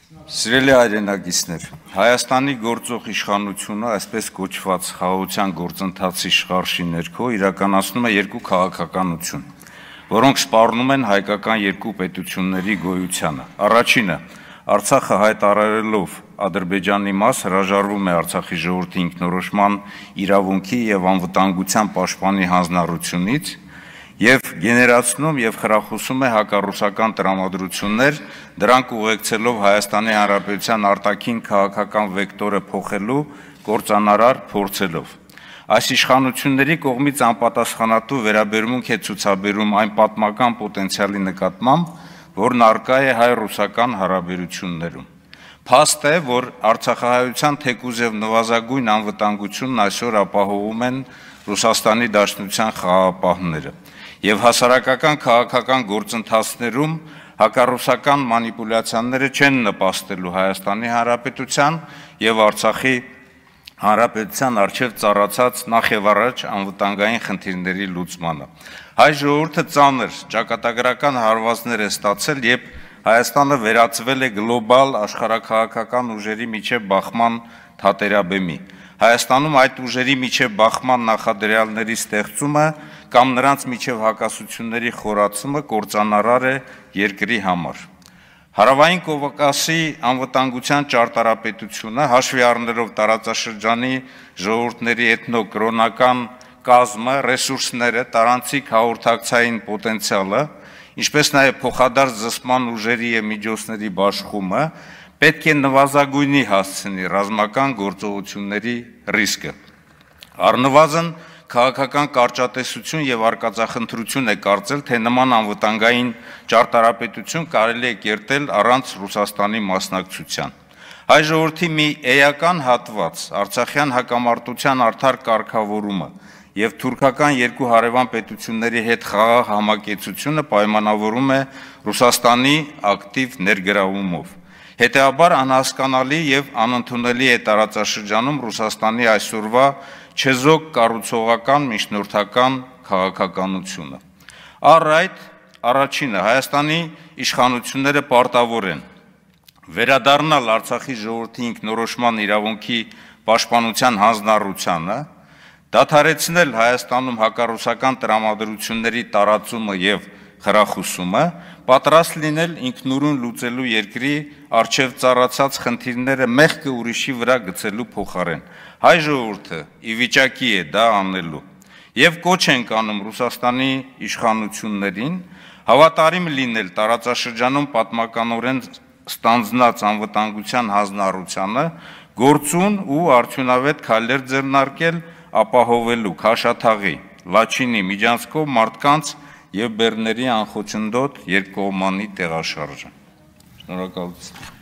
Սիրելի հայրենակիցներ, Հայաստանի գործող իշխանությունը, այսպես կոչված խաղաղության գործընթացի շղարշի ներքո իրականացնում է երկու քաղաքականություն, որոնք սպառնում են հայկական երկու պետությունների գոյությանը։ Առաջինը, Արցախը հայտարարելով Ադրբեջանի մաս հրաժարվում է Արցախի ժողովրդի ինքնորոշման իրավունքի եւ անվտանգության պաշտպանի հանձնառությունից եւ գեներացնում եւ խրախուսում է հակառուսական տրամադրություններ, դրանք ուղեկցելով Հայաստանի Հանրապետության արտաքին քաղաքական վեկտորը փոխելու կործանարար փորձելով։ Այս իշխանությունների կողմից անպատասխանատու վերաբերմունք է ցուցաբերում այն պատմական պոտենցիալի նկատմամբ, որն առկա է հայ-ռուսական հարաբերություններում։ Փաստ է, որ արցախահայության թեկուզ եւ նվազագույն անվտանգությունն այսօր ապահովում են Ռուսաստանի Դաշնության խաղաղապահները եւ հասարակական քաղաքական գործընթացներում հակառուսական մանիպուլյացիաները չեն նպաստելու Հայաստանի Հանրապետության եւ Արցախի Հանրապետության առջև ծառացած նախ եւ առաջ անվտանգային խնդիրների լուծմանը։ Հայ ժողովուրդը ծանր ճակատագրական հարվածներ է ստացել, երբ Հայաստանը վերածվել է գլոբալ աշխարհաքաղաքական ուժերի միջև բախման թատերաբեմի։ Հայաստանում այդ ուժերի միջև բախման նախադրյալների ստեղծումը կամ նրանց միջև հակասությունների խորացումը կործանարար է երկրի համար։ Հարավային Կովկասի անվտանգության ճարտարապետությունը հաշվի առնելով տարածաշրջանի ժողովուրդների էթնո-կրոնական կազմը, ռեսուրսները, տարանցիկ հաղորդակցային պոտենցիալը, ինչպես նաև փոխադարձ զսպման ուժերի եւ միջոցների բաշխումը պետք է նվազագույնի հասցնի ռազմական գործողությունների ռիսկը։ Առնվազն քաղաքական կարճատեսություն եւ արկածախնդրություն է կարծել, թե նման անվտանգային ճարտարապետություն կարելի է կերտել առանց Ռուսաստանի մասնակցության։ Հայ ժողովրդի մի էական հատված արցախյան հակամարտության արդար կարգավորումը եւ թուրքական երկու հարևան պետությունների հետ խաղաղ համակեցությունը պայմանավորում է Ռուսաստանի ակտիվ ներգրավումով։ Հետևաբար անհասկանալի եւ անընդունելի է տարածաշրջանում Ռուսաստանի այսօրվա չեզոք կառուցողական միջնորդական քաղաքականությունը։ Առ այդ առաջինը Հայաստանի իշխանությունները պարտավոր են վերադառնալ Արցախի ժողովրդի ինքնորոշման իրավունքի պաշտպանության հանձնառությանը, դադարեցնել Հայաստանում հակառուսական տրամադրությունների տարածումը եւ խրախուսումը, պատրաստ լինել ինքնուրույն լուծելու երկրի առջև ծառացած խնդիրները մեղքը ուրիշի վրա գցելու փոխարեն։ Հայ ժողովուրդը ի վիճակի է դա անելու եւ կոչ ենք անում Ռուսաստանի իշխանություններին հավատարիմ լինել տարածաշրջանում պատմականորեն ստանձնած անվտանգության հանձնառությանը, գործուն ու արդյունավետ քայլեր ձեռնարկել ապահովելու Քաշաթաղի, Լաչինի, Միջանցքով մարդկանց եւ բեռների անխոչնդոտ երկկողմանի տեղաշարժը։ Շնորհակալություն։